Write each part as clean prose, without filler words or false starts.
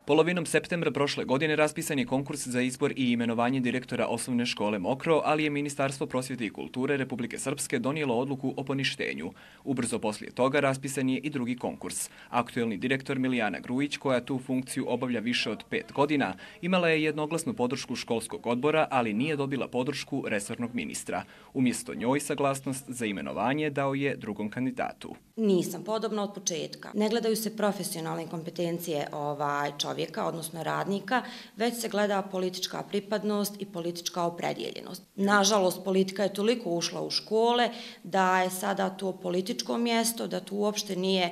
Polovinom septembra prošle godine raspisan je konkurs za izbor i imenovanje direktora osnovne škole Mokro, ali je Ministarstvo prosvjete i kulture Republike Srpske donijelo odluku o poništenju. Ubrzo poslije toga raspisan je i drugi konkurs. Aktuelni direktor Milijana Grujić, koja tu funkciju obavlja više od 5 godina, imala je jednoglasnu podršku školskog odbora, ali nije dobila podršku resornog ministra. Umjesto njoj saglasnost za imenovanje dao je drugom kandidatu. Nisam podobna od početka. Ne gledaju se profesionalne kompetencije čovjeka, odnosno radnika, već se gleda politička pripadnost i politička opredjeljenost. Nažalost, politika je toliko ušla u škole da je sada to političko mjesto, da to uopšte nije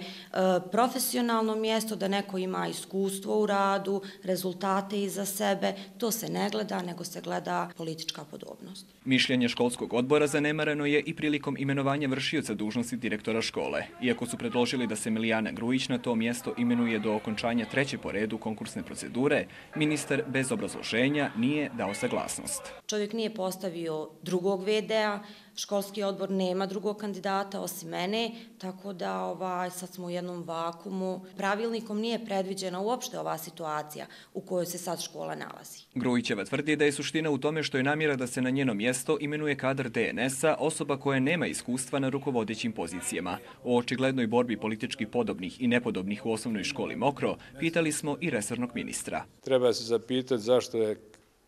profesionalno mjesto, da neko ima iskustvo u radu, rezultate iza sebe. To se ne gleda, nego se gleda politička podobnost. Mišljenje školskog odbora zanemareno je i prilikom imenovanja vršioca dužnosti direktora škole. Iako su predložili da se Milijana Grujić na to mjesto imenuje do okončanja treće po redu konkursne procedure, ministar bez obrazloženja nije dao saglasnost. Čovjek nije postavio drugog VD-a, školski odbor nema drugog kandidata osim mene, tako da sad smo u jednom vakumu. Pravilnikom nije predviđena uopšte ova situacija u kojoj se sad škola nalazi. Grujićeva tvrdi da je suština u tome što je namjera da se na njeno mjesto imenuje kadar DNS-a, osoba koja nema iskustva na rukovodećim pozicijama. O očiglednoj borbi politički podobnih i nepodobnih u osnovnoj školi Mokro pitali smo i resornog ministra. Treba se zapitati zašto je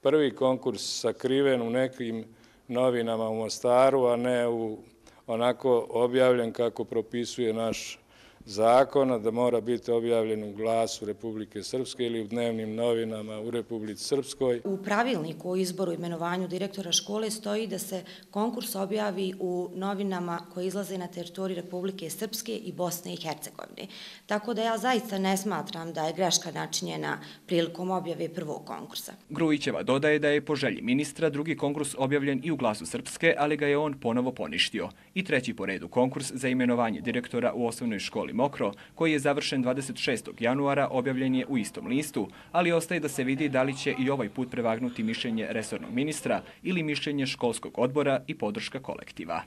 prvi konkurs sakriven u nekim novinama u Mostaru, a ne onako objavljen kako propisuje naš zakon, da mora biti objavljen u Glasu Republike Srpske ili u dnevnim novinama u Republici Srpskoj. U pravilniku o izboru i imenovanju direktora škole stoji da se konkurs objavi u novinama koje izlaze na teritoriji Republike Srpske i Bosne i Hercegovine. Tako da ja zaista ne smatram da je greška načinjena prilikom objave prvog konkursa. Grujićeva dodaje da je po želji ministra drugi konkurs objavljen i u Glasu Srpske, ali ga je on ponovo poništio. I treći po redu konkurs za imenovanje direktora u osnovnoj školi Mokro, koji je završen 26. januara, objavljen je u istom listu, ali ostaje da se vidi da li će i ovaj put prevagnuti mišljenje resornog ministra ili mišljenje školskog odbora i podrška kolektiva.